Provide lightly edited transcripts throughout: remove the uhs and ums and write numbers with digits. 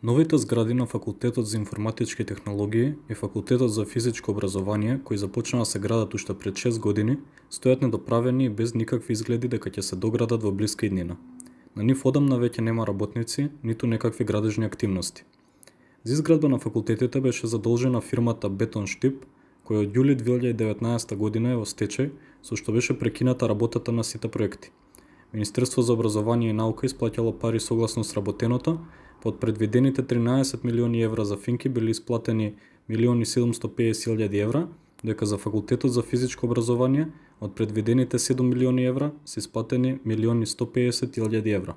Новите згради на Факултетот за информатички технологии и Факултетот за физичко образование, кои започнаа да се градат уште пред 6 години, стојат недоправени и без никакви изгледи дека ќе се доградат во блиска иднина. На нив одамна веќе нема работници, ниту некакви градежни активности. За изградба на факултетите беше задолжена фирмата Бетонштип, која од јули 2019 година е во стечај, со што беше прекината работата на сите проекти. Министерство за образование и наука исплатило пари согласно сработеното, под предвидените 13 милиони евра за Финки били исплатени 1.750.000 евра, дека за Факултетот за физичко образование од предвидените 7 милиони евра се исплатени 1.150.000 евра.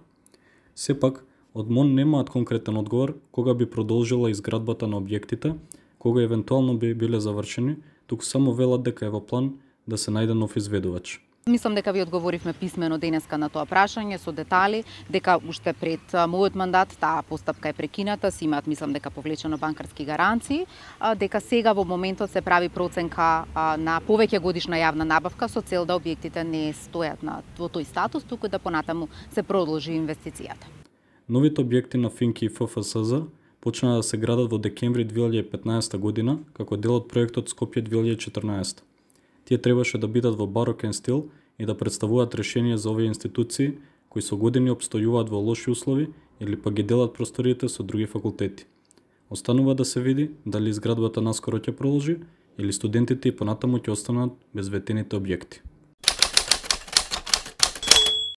Сепак, од МОН немаат конкретен одговор кога би продолжила изградбата на објектите, кога евентуално би биле завршени, туку само велат дека е во план да се најде нов изведувач. Мислам дека ви одговоривме писмено денеска на тоа прашање со детали, дека уште пред мојот мандат таа постапка е прекината, се имаат мислам дека повлечено банкарски гаранции, дека сега во моментот се прави проценка на повеќе годишна јавна набавка со цел да објектите не стојат во тој статус, туку да понатаму се продолжи инвестицијата. Новите објекти на Финки и ФФСЗ почнаа да се градат во декември 2015 година, како дел од проектот Скопје 2014. Тие требаше да бидат во барокен стил и да представуваат решение за овие институции кои со години обстојуваат во лоши услови или па ги делат просториите со други факултети. Останува да се види дали изградбата наскоро ќе продолжи или студентите и понатаму ќе останат без ветените објекти.